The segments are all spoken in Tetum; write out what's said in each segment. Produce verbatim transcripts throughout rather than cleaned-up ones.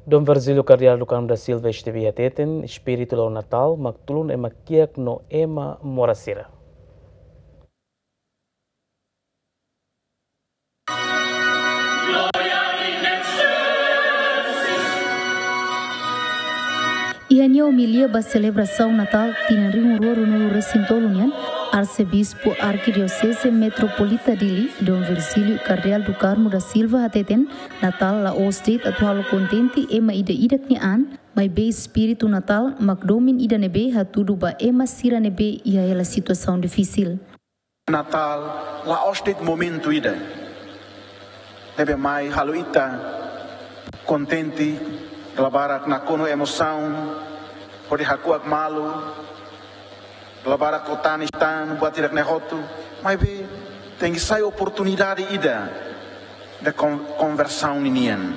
Dom Virgílio Kardeál do Carmo da Silva Estebi hateten, espíritu la'o Natál mak tulun ema kiak no ema moras sira. Iha nia omilia ba selebrasaun Natál tinan rihun rua ruanulu resin tolu nian, Arsebispu Arkidioseze Metropolita Dili, Dom Virgílio Kardeál do Carmo da Silva hateten, Natál la'ós de'it atu halo kontente ema ida-idak nia an, maibé espíritu Natál mak domin ida ne'ebé hatudu ba ema sira ne'ebé iha hela situasaun difisil. Natál la'ós de'it momentu ida ne'ebé mai halo ita kontente, dala barak nakonu emosaun, hodi hakuak malu, dala barak to'o tanis tan, buat hirak-ne'e hotu, maibé tenke sai oportunidade ida de kon-, konversaun ninian.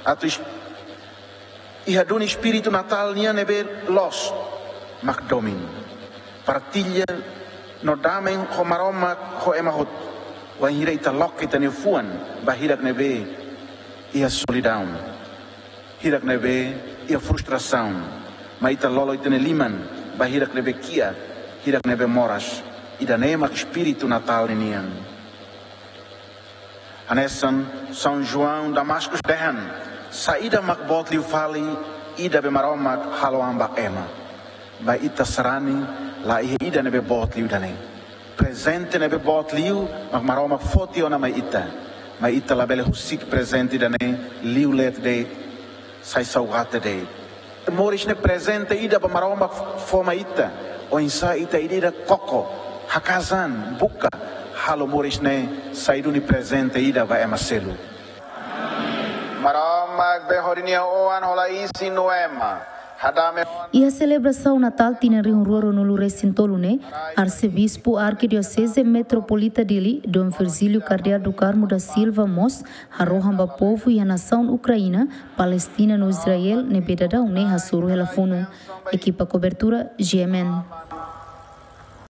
Atu es-, iha duni espíritu Natál nian ne'ebé loos mak domin, partilla no dame ho Maromak ho ema hotu. Wainhira ita loke ita-nia fuan ba hirak ne'ebé iha solidaun, hirak ne'ebé iha frustrasaun, mai ita lolo ita-nia liman ba hirak ne'ebé kiak, hirak ne'ebé moras. Ida-ne'e mak espíritu Natál ninian. Hanesan São João Damascus dehan, saida mak boot liu fali ida be Maromak halo an ba ema. Ba ita sarani la iha ida ne'ebé boot liu ida-ne'e. Prezente ne'ebé boot liu mak Maromak foti ona mai ita. Mai ita labele husik prezente ida-ne'e liu leet de'it, sai saugate de'it. Moris ne'e prezente ida ba Maromak fó mai ita. Oinsá ita ida-idak koko, haka'as an, buka, halo moris ne'e sai duni prezente ida ba ema seluk. Maromak be hodi nia Oan hola isin no ema. Hadame. Iha selebrasaun Natál tinan rihun rua ruanulu resin tolu ne'e, Arsebispu Arkidioseze Metropolita Dili, Dom Virgílio Kardeál do Carmo da Silva mós harohan ba povu iha nasaun Ukraina, Palestina no Israel ne'ebé daudaun ne'e hasoru hela funu. Ekipa kobertura, G M N.